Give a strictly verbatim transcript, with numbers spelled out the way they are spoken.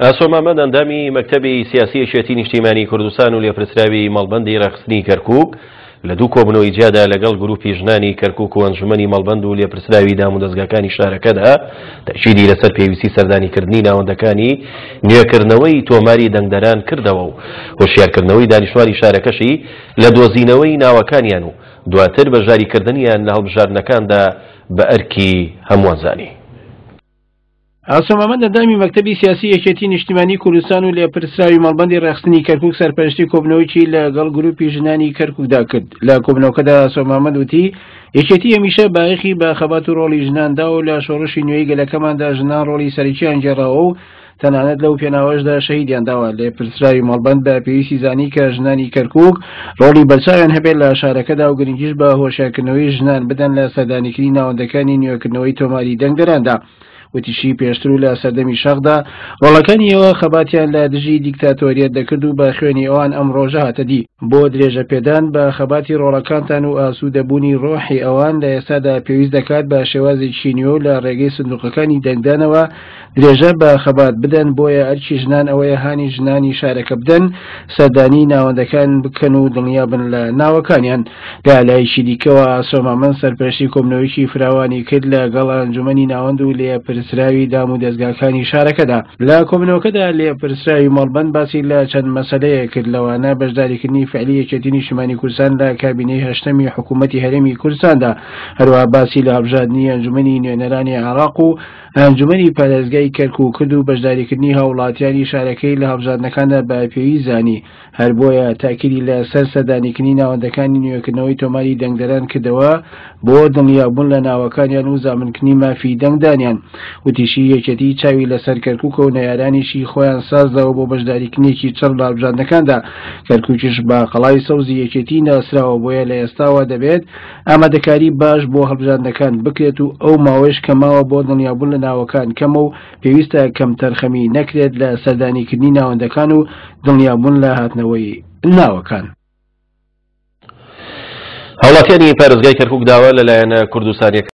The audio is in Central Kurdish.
ئاسۆ مامەند ئەندامی مەکتەبی سیاسی یەکێتی نیشتیمانی کوردستان و لێپرسراوی مەڵبەندی ڕێکخستنی کەرکووک لە دوو کۆبوونەوەی جیادا لەگەڵ گروپی ژنانی کەرکووک و ئەنجومەنی مەڵبەند و لێپرسراوی دامودەزگاکانی شارەکەدا تەئکیدی لەسەر پێویستی سەردانیکردنی ناوەندەکانی نوێکردنەوەی تۆماری دەنگدەران کردەوە و هۆشیارکردنەوەی دانیشتوانی شارەکەشی لە دۆزینەوەی ناوەکانیان و دواتر بەشداریکردنیان لە هەڵبژاردنەکاندا بە ئەرکی هەمووان زانی. ئاسۆ مامەند ئەندامی مەکتەبی سیاسی یەکێتی نیشتیمانی کوردستان و لێپرسراوی مەڵبەندی ڕێکخستنی کەرکوک سەرپەرشتی کۆبنەوەیەکی لەگەڵ گروپی ژنانی کەرکوکدا کرد. لە کۆبنەوەکەدا ئاسۆ مامەند وتی یەکێتی هەمیشە بایەخی بە خەبات و ڕۆڵی ژنان دا و لە شۆڕشی نوێی گەلەکەماندا ژنان ڕۆڵی سەرەکییان گێڕاوە و تەنانەت لەو پێناوەشدا شەهیدیان داوە. لێپرسراوی مەڵبەند بە پێویستی زانی کە ژنانی کەرکوک ڕۆڵی بەرچاویان هەبێت لە شارەکەدا و گرنگیش بە هۆشیارکردنەوەی ژنان بدەن لە سەردانیکردنی ناوەندەکانی نوێکردنەوەی تۆماری دەنگدەراندا. وتیشی پێشتر و لە سەردەمی شەقدا ڕۆڵەکانی ئێوە خەباتیان لە دژی دیکتاتۆریەت دەکرد و بە خوێنی ئەوان ئەم ڕۆژە هاتە دی. بۆ درێژە پێدان بە خەباتی ڕۆڵەکانتان و ئاسوودەبوونی ڕۆحی ئەوان لە ئێستادا پێویست دەکات بە شێوازێکی نوێ و لە ڕێگەی سندوقەکانی دەنگدانەوە درێژە بە خەبات بدەن. بۆیە ئەرکی ژنان ئەوەیە هانی ژنانی شارەکە بدەن سەردانی ناوەندەکان بکەن و دڵنیا بن لە ناوەکانیان. لە لایەکی دیکەوە ئاسۆ مامەند سەرپەرشتی کۆبنەوەیەکی فراوانی کرد لەگەڵ ئەنجومەنی ناوەند و لێپرسراوی دام و دەزگاکانی شارەکەدا. لە کۆبنەوەکەدا لێپرسراوی مەڵبەند باسی لە چەند مەسەلەیە کرد، لەوانە بەشداریکردنی فعلی یەکێتی نیشتیمانی کوردستان لە کابینەی هەشتەمی حکوومەتی هەرێمی کوردستاندا، هەروەها باسی لە هەڵبژاردنی ئەنجومەنی نوێنەرانی عێراق و ئەنجومەنی پارێزگای کەرکوک کرد و بەشداریکردنی هاوڵاتیانی شارەکەی لە هەڵبژاردنەکاندا بە پێویست زانی. هەر بۆیە تاکیدی لە سەر سەردانیکردنی ناوەندەکانی نوێکردنەوەی تۆماری دەنگدەران کردەوە بۆ دڵنیابوون لە ناوەکانیان و زامنکردنی مافی دەنگدانیان. وتیشی یەکێتی چاوی لەسەر کەرکوکە و نەیارانیشی خۆیان سازداوە بۆ بەشداریکردنێکی چڕ لە هەڵبژاردنەکاندا. کەرکوکیش بە قەڵای سەوزی یەکێتی ناسراوە، بۆیە لە ئێستاوە دەبێت ئامادەکاری باش بۆ هەڵبژاردنەکان بکرێت و ئەو ماوەیش کە ماوە بۆ دڵنیابوون لە ناوەکان کەمە و پێویستە کەمتەرخەمی نەکرێت لە سەردانیکردنی ناوەندەکان و دڵنیابوون لە هاتنەوەی ناوەکان. هاوڵاتیانی پارێزگای کەرکوک داوا لەلایەنە کوردستانیەکان